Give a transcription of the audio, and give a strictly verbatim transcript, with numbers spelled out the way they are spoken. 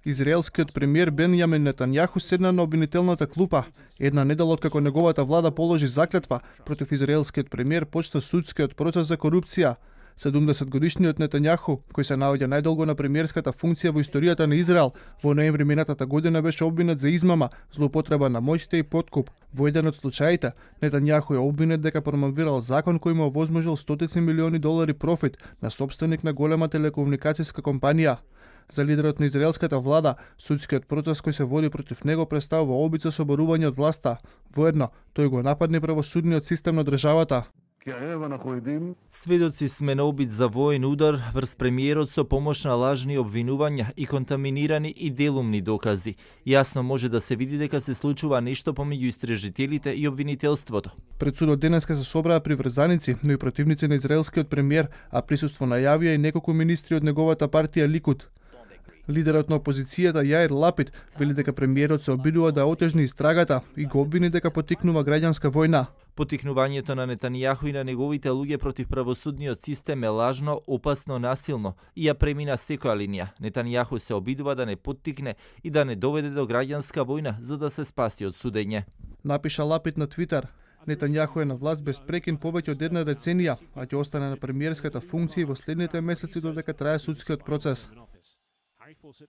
Израелскиот премиер Бенјамин Нетањаху седна на обвинителната клупа. Една недела откако неговата влада положи заклетва против израелскиот премиер, почна судскиот процес за корупција. седумдесетгодишниот Нетањаху, кој се наоѓа најдолго на премиерската функција во историјата на Израел, во ноември минатата година беше обвинет за измама, злоупотреба на моќите и подкуп. Во еден од случаите, Нетањаху е обвинет дека промовирал закон кој му овозможил стотици милиони долари профит на сопственик на голема телекомуникацијска компанија. За лидерот на израелската влада, судскиот процес кој се води против него представува обид за соборување од власта. Воедно, тој го нападне правосудниот систем на државата. Сведоци сме на обид за воен удар врз премиерот со помош на лажни обвинувања и контаминирани и делумни докази. Јасно може да се види дека се случува нешто помеѓу истражителите и обвинителството. Пред судот денеска се собраа приврзаници, но и противници на израелскиот премиер, а присуство најавија и неколку министри од неговата партија Ликуд. Лидерот на опозицијата Јаир Лапид вели дека премиерот се обидува да отежни истрагата и го обвини дека поттикнува граѓанска војна. Поттикнувањето на Нетањаху и на неговите луѓе против правосудниот систем е лажно, опасно, насилно и ја премина секоја линија. Нетањаху се обидува да не поттикне и да не доведе до граѓанска војна за да се спаси од судење. Напиша Лапид на Твитер. Нетањаху е на власт без прекин повеќе од една деценија, а ќе остане на премиерската функција во следните месеци додека трае судскиот процес.